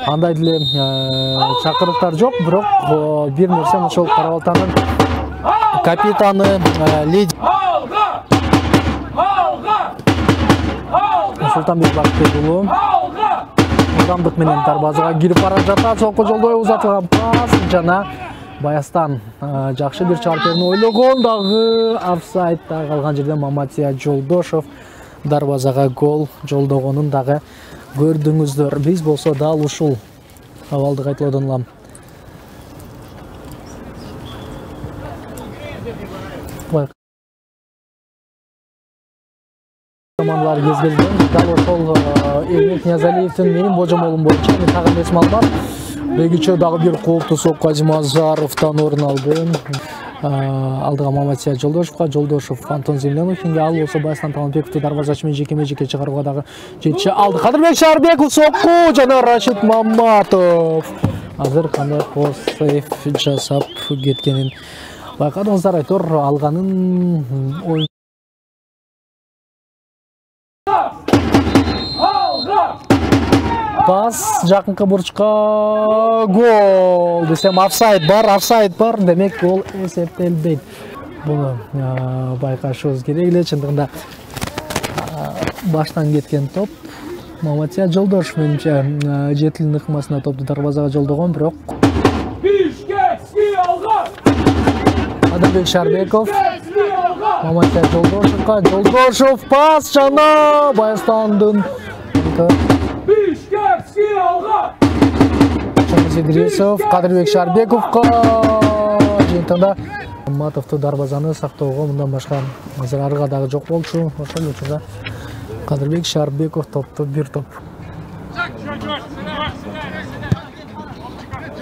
андай деле чакырыктар жок, бирок бир нерсе ошол Кара-Балтанын капитаны леди Султанбек Бактыбек уулу ылдамдык менен дарбазага кирип бара жатат. Сокко жолдой узатылган пас жана Баястан жакшы бир чартерни ойлогон, дагы офсайдта калган жерден Маматия Жолдошов дарбазага гол жолдогонун дагы көрдүңүздөр. Биз болсо дал ушул абалды кайталоодон улам командалар кезгелген. Дал ошол Эрмек Ниязалиевдин менин божомолум боюнча тагы эсиме албам. Бегиче дагы бир кооптуу сокко Азимазаровдон орун алды. Алдыга Маматия Жолдошовго, Жолдошов Антон Земляновинге, ал болсо Баястан Таланбековду дарбазачы менен жеке-жеке чыгарууга дагы жетиши алды. Кадырбек Шарбеков сокку жана Рашид Маматов азыр кандай сейф жасап кеткенин байкадыңыздар. Айтор алганын ой пас жакынкы бурчка гол десем офсайд бар, демек гол эсептелбейт. Буну байкашыбыз керек эле. Чындыгында баштан кеткен топ Маматия Жолдошов менимче жетилин ыкмасына топту дарбазага жолдогон, бирок Кадырбек Шарбеков Маматия Жолдошовго, Жолдошов пас жана Баястандын Идрисов Кадырбек Шарбековго жыйынтыгында Маматовду дарбазаны сактоого мындан башка азыр арыга дагы жок болчу. Ошол учурда Кадырбек Шарбеков топту бир топ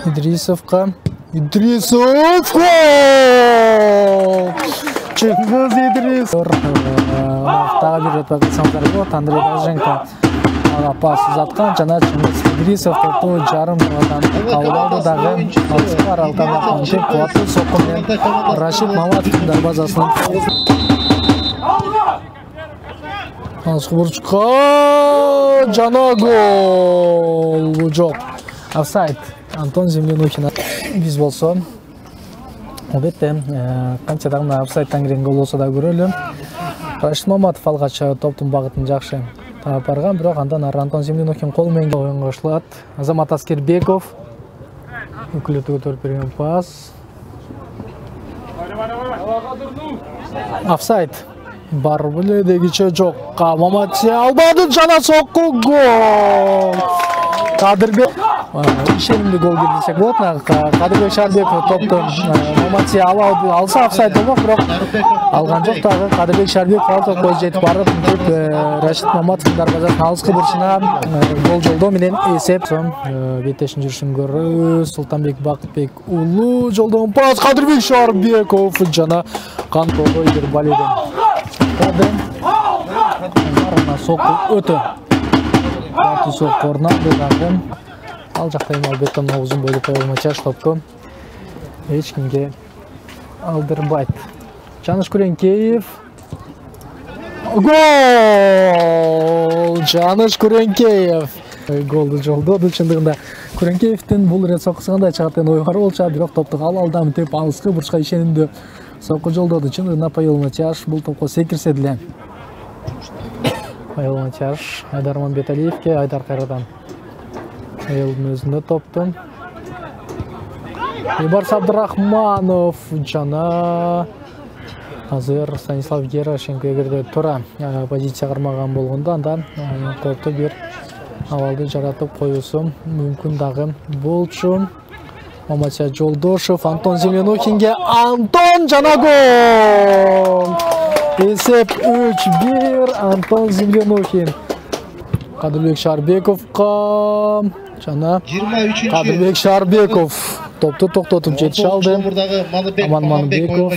Идрисовго, Идрисов Чыңгыз Идрисов дагы бир рет байкасаңыздар болот. Андрей Долженко пас узаткан жана Чыңгыз Идрисов топту жарым мурдан кабыл алды. Дагы алыска аралыкта кантип кубаттуу сокку менен Рашид Маматовдун дарбазасынан алыска бурчка жана гол жок, офсайд. Антон Земляновин. Биз болсо албетте канча да мына офсайдтан кирген гол болсо да көрөлү. Рашид Маматов алгач топтун багытын жакшы таап барган, бирок андан ары Антон Земляновин кол менен оюнга кошулат. Азамат Аскербеков өкүлөтү көтөрүп берген пас. Офсайд бар беле, дегиче жок. Маматия албады жана сокку гол. Кадырбек ишенимдүү гол келди десек болот. Кадырбек Шарбеков топту Маматия алса офсайд болмок, бирок алган жок. Дагы Кадырбек Шарбеков ал топко жетип барып Рашид Маматовдун дарбазасына алыскы бурчуна гол жолдоо менен эсеп. Беттешин жүрүшүн көрүү. Султанбек Бактыбек уулу жолдогон пас Кадырбек Шарбеков жана Кантого Идербалиден сокку өтө сокку орнады. Дагы ал жакта эми албетте узун бойлуу Павел топту эч кимге алдырбайт. Жаныш Күреңкеев гол! Жаныш Күреңкеев голду жолдоду. Чындыгында Күреңкеевдин бул ирет соккусу кандай чыгат деген ой бар болчу, бирок топту алдам деп алыскы бурчка ишенимдүү сокку жолдоду. Чындыгында Павел Матяш бул топко секирсе деле Павел Матяш Айдар Мамбеталиевке, Айдар кайрадан Элдин өзүндө топту. Ибарс Абдырахманов жана азыр Станислав Герашенко эгерде туура позиция кармаган болгондо анда топту бир абалды жаратып коюусу мүмкүн дагы болчу. Маматия Жолдошов Антон Земляновинге, Антон жана гол! Эсеп 3-1 Антон Земляновин. Кадырбек Шарбековго жана Кадырбек Шарбеков топту токтотуп жетише алды. Аман Манбеков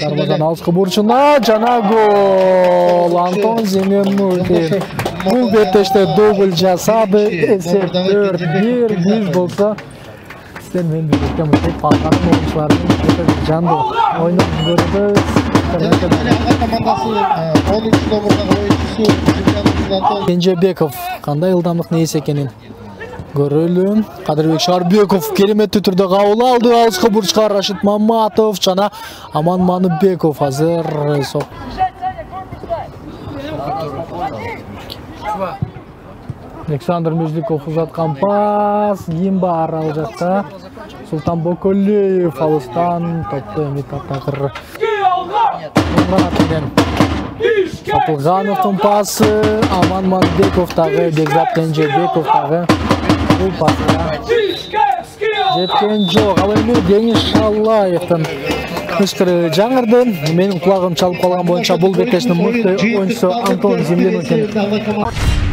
дарбазанын алыскы бурчуна жана гол. Антон Земляновин бул беттеште дубль жасады. Эсеп 4-1. Биз болсо сиздер менен бирге мынтип Балкандын оюнчуларын жандуу ойноп көрөбүз. Кенжебеков кандай ылдамдык нээси экенин Көрөлүм. Кадырбек Шарбеков кереметтүү түрдө кабыл алды. Алыска бурчка Рашид Маматов жана Аман Маныбеков азыр Александр Межликов узаткан пас. Ким бар ал жакта? Султан Боколеев алыстан топто эми татагыр. Сатылгановдун пасы, Аман Маныбеков дагы, Бекзат Кенжебеков дагы. Бул паска жеткен жок. Ал эми Деңиз Шаллаевдин ышкыры жаңырды. Менин кулагым чалып калган боюнча бул бекештин мыкты оюнчусу Антон Землянухин